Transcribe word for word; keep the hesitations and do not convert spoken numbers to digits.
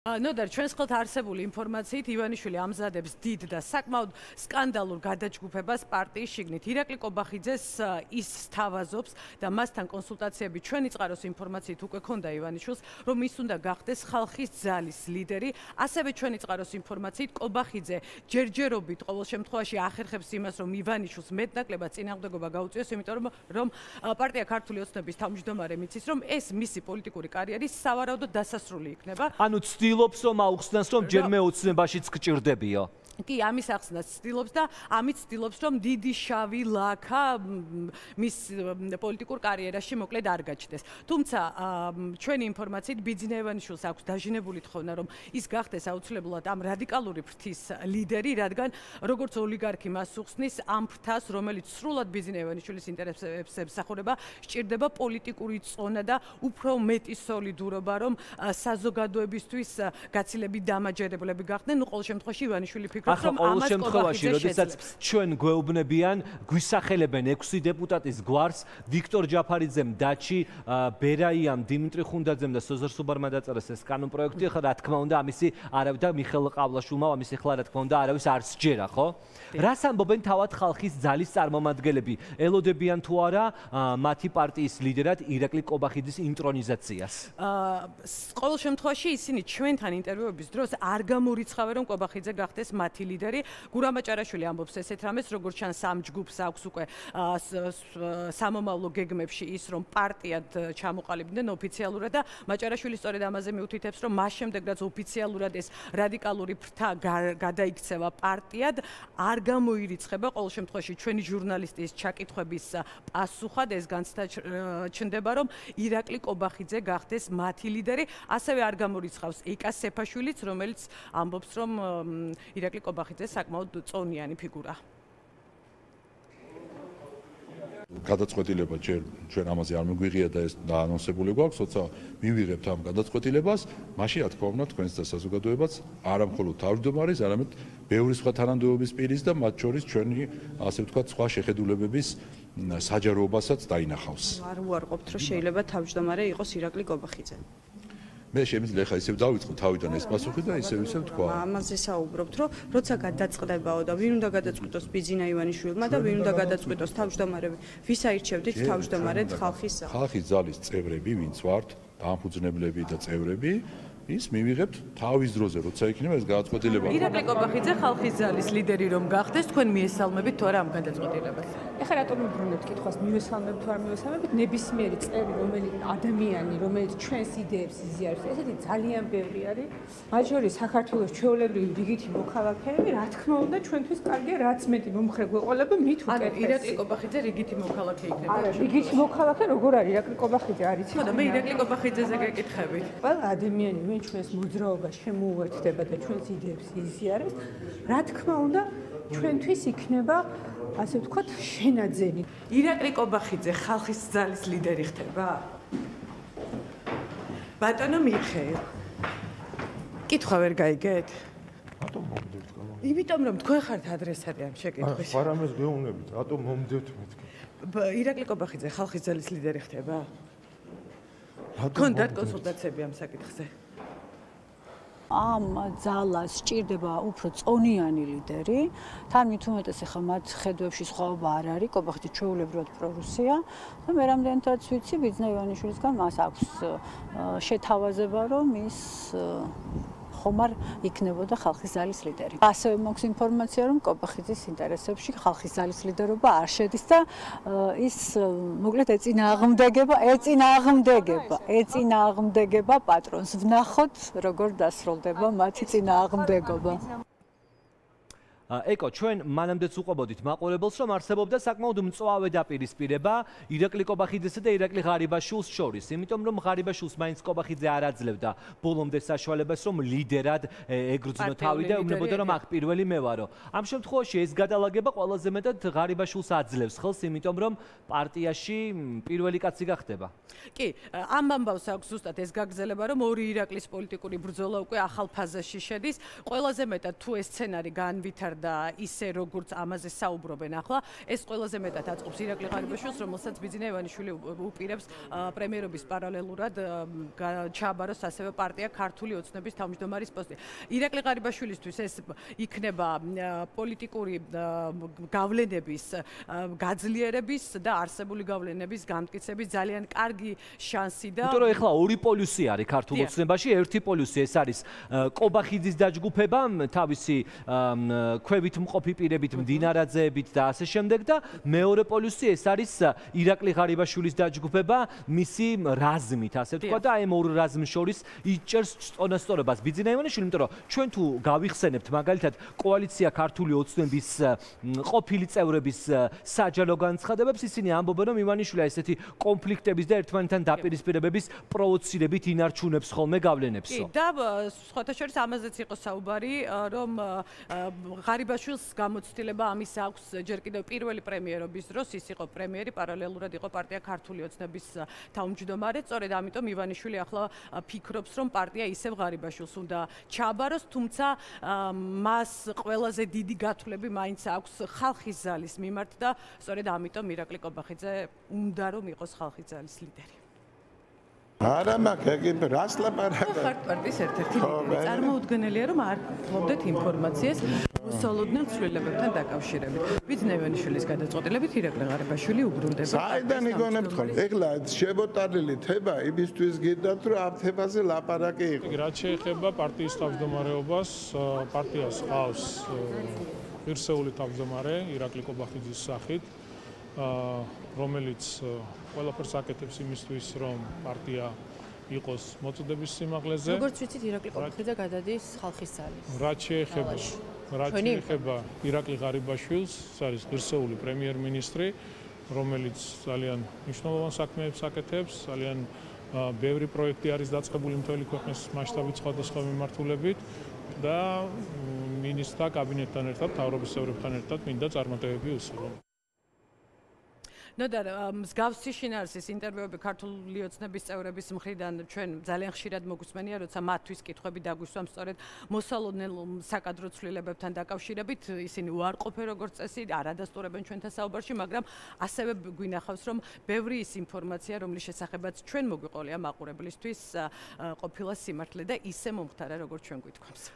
ნოდარ ჩვენს ხელთ არსებული ინფორმაციით ივანიშვილი ამზადებს დიდ და საკმაოდ სკანდალურ გადაჯგუფებას პარტიის შიგნით. ირაკლი კობახიძეს ის სთავაზობს და მასთან კონსულტაციები ჩვენი წყაროს ინფორმაციით უკვე ქონდა ივანიშვილს, რომ ის უნდა გახდეს ხალხის ძალის ლიდერი. ასევე ჩვენი წყაროს ინფორმაციით კობახიძე ჯერჯერობით ყოველ შემთხვევაში ახერხებს იმას, რომ ივანიშვილს მეტნაკლებად წინააღმდეგობა გაუწიოს, იმიტომ რომ პარტია ქართული ოცნების თავმჯდომარე მიცის, რომ ეს მისი პოლიტიკური კარიერის სავარაუდოდ დასასრული იქნება. ანუ ცდილობს რომ აუხსნას რომ ჯერმე ოცნებაშიც გჭირდებიო. კი, ამის ახსნას ცდილობს და ამით ცდილობს რომ დიდი შავი ლაქა მის პოლიტიკურ კარიერაში მოკლედ არ გაჩნდეს. თუმცა ჩვენი ინფორმაციით ბიძინა ივანიშვილს აქვს დაჟინებული თხოვნა რომ ის გახდეს აუცილებლად ამ რადიკალური ფრთის ლიდერი, რადგან როგორც ოლიგარქი მას უხსნის ამ ფრთას, რომელიც სრულად ბიძინა ივანიშვილის ინტერესებს ემსახურება, სჭირდება პოლიტიკური წონა და უფრო მეტი სოლიდურობა, რომ საზოგადოებისთვის გაცილებით დამაჯერებლები გახდნენ. ნუ ყოველ შემთხვევაში ივანიშვილი ფიქრობს ახლა ყოველ შემთხვევაში, როდესაც ჩვენ გვეუბნებიან, გვისახელებენ ექვსი დეპუტატის გვარს, ვიქტორ ჯაფარიძემ, დაჩი ბერაიამ, დიმიტრი ხუნდაძემ და სოზარ სუბარმა დაწერეს ეს კანონპროექტი, ახლა რა თქმა უნდა, ამისი არავის და მიხეილ ყავლაშვილმა ამის ახლა რა თქმა უნდა, არავის არ სჯერა, ხო? რას ამბობენ თავად ხალხის ძალის წარმომადგენლები? ელოდებიან თუ არა მათი პარტიის ლიდერად ირაკლი კობახიძის ინტრონიზაციას? ყოველ შემთხვევაში ისინი ჩვენთან ინტერვიუების დროს არ გამორიცხავენ, რომ კობახიძე გახდეს მათი ლიდერი. გურამ აჭარაშვილი ამბობს ესეთ რამეს, როგორც ჩანს ამ ჯგუფს აქვს უკვე სამომავლო გეგმებში ის, რომ პარტიად ჩამოყალიბდნენ ოფიციალურად და მაჭარაშვილი სწორედ ამაზე მიუთითებს, რომ მას შემდეგ რაც ოფიციალურად ეს რადიკალური ფრთა გადაიქცევა პარტიად, არ გამოირიცხება ყოველ შემთხვევაში ჩვენი ჟურნალისტის ჩაკითხვების პასუხად ეს განცდა ჩნდება, რომ ირაკლი კობახიძე გახდეს მათი ლიდერი. ასევე არ გამორიცხავს ეკა სეფაშვილიც, რომელიც ამბობს, რომ ირაკლი კობახიძე საკმაოდ წონიანი ფიგურა. გადაწყვეტილება ჯერ ჩვენ ამაზე არ მიგვიღია და ეს დაანონსებული გვაქვს, როცა მივიღებთ ამ გადაწყვეტილებას, მაშინ რა თქმა უნდა თქვენს და საზოგადოებაც არა მხოლოდ თავმჯდომარის, არამედ ბევრი სხვა თანამდებობის პირის და მათ შორის ჩვენი ასე ვთქვათ სხვა შეხედულებების საჯაროობასაც დაინახავს. არ უარყოფთ, რომ შეიძლება თავმჯდომარე იყოს ირაკლი კობახიძე. მე შემიძლია ხა ისევ დავიწყო თავიდან ეს პასუხი და ისევ ისევ თქვა. ამაზე საუბრობთ, რომ როცა გადაწყდებაო და ვინ უნდა გადაწყვიტოს ბიძინა ივანიშვილმა და ვინ უნდა გადაწყვიტოს თავმჯდომარები, ვის აირჩევდით თავმჯდომარედ ხალხის ძალას? ხალხის ძალის წევრები, ვინც ვართ, დამფუძნებლები და წევრები, ის მივიღებთ თავის დროზე, როცა იქნება ეს გადაწყვეტილება. ირაკლი კობახიძე ხალხის ძალის ლიდერი რომ გახდეს, თქვენ მიესალმებით თუ არა ამ გადაწყვეტილებას? ეხლა რატომ მიბრუნებთ კითხვას, მივესალმებით თუ არ მივესალმებით? ნებისმიერი წევრი, რომელიც ადამიანი, რომელიც ჩვენს იდეებს იზიარებს, ესეთი ძალიან ბევრი არის. მათ შორის საქართველოს ჩვეულებრივი რიგითი მოქალაქეები, რა თქმა უნდა, ჩვენთვის კარგია, რაც მეტი მომხრე გვეყოლება, მით უკეთესი. ირაკლი კობახიძე რიგითი მოქალაქე იქნება. არა, რიგითი მოქალაქე როგორ არის ირაკლი კობახიძე არის? ხო და მე ირაკლი კობახიძეზე გეკითხებით. ყველა ადამიანი ვინ ჩვენს მოძრაობას შემოუერთდება და ჩვენს იდეებს იზიარებს, რა თქმა უნდა, ჩვენთვის იქნება ასე ვთქვათ, შენაძენი. ირაკლი კობახიძე ხალხის ძალის ლიდერი ხდება? ბატონო მიხეილ. კითხვა ვერ გაიგეთ? რატომ მომდევთ კალამ? იმიტომ რომ თქვენ ხართ ადრესატი ამ შეკითხვის. არა, ამას გეუბნებით, რატომ მომდევთ მეთქი? ირაკლი კობახიძე ხალხის ძალის ლიდერი ხდება? რატომ? გქონდათ კონსულტაციები ამ საკითხზე? ამ ძალას სჭირდება უფრო წონიანი ლიდერი. თან მით უმეტეს ახლა მათ ხედვებში სხვაობა არ არის, კობახიძე ჩვეულებრივად პრორუსია და მე რამდენადაც ვიცი, ბიძინა ივანიშვილისგან მას აქვს შეთავაზება, რომ ის ხომარ იქნებოდა ხალხის ძალის ლიდერი. ასევე მაქვს ინფორმაცია, რომ კობახიძის ინტერესებში ხალხის ძალის ლიდერობა არ შედის და ის მოკლედ ეწინააღმდეგება, ეწინააღმდეგება, ეწინააღმდეგება პატრონს. ვნახოთ, როგორ დასრულდება მათი წინააღმდეგობა. ეკო, ჩვენ მანამდეც უყვებოდით მაყურებელს, რომ არსებობდა საკმაოდ მწვავე დაპირისპირება ირაკლი კობახიძესა და ირაკლი ღარიბაშვილს შორის, იმიტომ რომ ღარიბაშვილს მაინც კობახიძე არ აძლევდა ბოლომდე საშუალებას, რომ ლიდერად ეგრძნო თავი და ეუბნებოდა, რომ აქ პირველი მე ვარო. ამ შემთხვევაში ეს გადალაგება ყველაზე მეტად ღარიბაშვილს აძლევს ხელს, იმიტომ რომ პარტიაში პირველი კაცი გახდება. კი, ამ ამბავს აქვს ზუსტად ეს გაგრძელება, რომ ორი ირაკლის პოლიტიკური ბრძოლა უკვე ახალ ფაზაში შედის. ყველაზე მეტად თუ ეს სცენარი განვითარდება და ისე როგორც ამაზე საუბრობენ ახლა, ეს ყველაზე მეტად აწყობს ირაკლი ღარიბაშვილს, რომელსაც ბიძინა ივანიშვილი უპირებს პრემიერობის პარალელურად ჩააბაროს ასევე პარტია ქართული ოცნების თავმჯდომარის პოსტი. ირაკლი ღარიბაშვილისთვის ეს იქნება პოლიტიკური გავლენების გაძლიერების და არსებული გავლენების გამტკიცების ძალიან კარგი შანსი და იმიტომ რომ ეხლა ორი პოლუსი არის ქართულ ოცნებაში, ერთი პოლუსი ეს არის კობახიძის დაჯგუფება თავისი ქვევით მყოფი პირებით, მდინარაძეებით და ასე შემდეგ და მეორე პოლუსი ეს არის ირაკლი ღარიბაშვილის დაჯგუფება მისი რაზმით, ასე ვთქვა და აი ამ ორ რაზმს შორის იჭერს წონასწორობას ბიძინა ივანიშვილი, იმიტომ რომ ჩვენ თუ გავიხსენებთ მაგალითად კოალიცია ქართული ოცნების ყოფილი წევრების საჯარო განცხადებებს, ისინი ამბობენ რომ ივანიშვილი ესეთი კონფლიქტების და ერთმანეთთან დაპირისპირებების პროვოცირებით ინარჩუნებს ხოლმე გავლენებსო. კი და სხვათა შორის ამაზეც იყო საუბარი, რომ ღარიბაშვილს გამოცდილება ამის აქვს ჯერ კიდევ პირველი პრემიერობის დროს, ის იყო პრემიერი, პარალელურად იყო პარტია ქართული ოცნების თავმჯდომარე, სწორედ ამიტომ ივანიშვილი ახლა ფიქრობს, რომ პარტია ისევ ღარიბაშვილს უნდა ჩააბაროს, თუმცა მას ყველაზე დიდი გათვლები მაინც აქვს ხალხის ზალის მიმართ და სწორედ ამიტომ ირაკლი კობახიძე უნდა რომ იყოს ხალხის ზალის ლიდერი. არა მაგ რას ლაპარაკობ? ხართ პარტიის ერთ-ერთი ლიდერი. წარმოუდგენელია რომ არ გქონდეთ ინფორმაციას მოსალოდნელ ცვლილებებთან დაკავშირებით. ბიძინა ივანიშვილის გადაწყვეტილებით ირაკლი ღარიბაშვილი უბრუნდება. საიდან იგონებთ ხოლმე? ეხლა შემოტანილი თება იმისთვის გიდათ რომ ამ თემაზე ლაპარაკი იყო. რაც შეეხება პარტიის თავმჯდომარეობას, პარტიას ყავს ღირსეული თავმჯდომარე ირაკლი კობახიძის სახით, რომელიც ყველაფერს აკეთებს იმისთვის, რომ პარტია იყოს მოწოდების სიმაღლეზე. როგორც ვიცით, ირაკლი კობახიძე გადადის ხალხის ძალის. რაც შეეხება რაც შეეხება ირაკლი ღარიბაშვილს, ეს არის ღირსეული პრემიერ-მინისტრი, რომელიც ძალიან მნიშვნელოვან საქმეებს აკეთებს, ძალიან ბევრი პროექტი არის დაწყებული მთელი ქვეყნის მასშტაბით სხვადასხვა მიმართულებით და მინისტრთა კაბინეტთან ერთად, მთავრობის წევრებთან ერთად მინდა წარმატებები უსურვო. ნოდარ მსგავსი შინაარსის ინტერვიუები ქართული ოცნების წევრების მხრიდან ჩვენ ძალიან ხშირად მოგვისმენია, როცა მათთვის კითხვები დაგვისვამ სწორედ მოსალოდნელ საკადრო ცვლილებებთან დაკავშირებით, ისინი უარყოფენ როგორც წესი, არ ადასტურებენ ჩვენთან საუბარში, მაგრამ ასევე გვინახავს, რომ ბევრი ის ინფორმაცია, რომლის შესახებაც ჩვენ მოგვიყოლია მაყურებლისთვის, ყოფილა სიმართლე და ისე მომხდარა, როგორც ჩვენ გვითქვამს.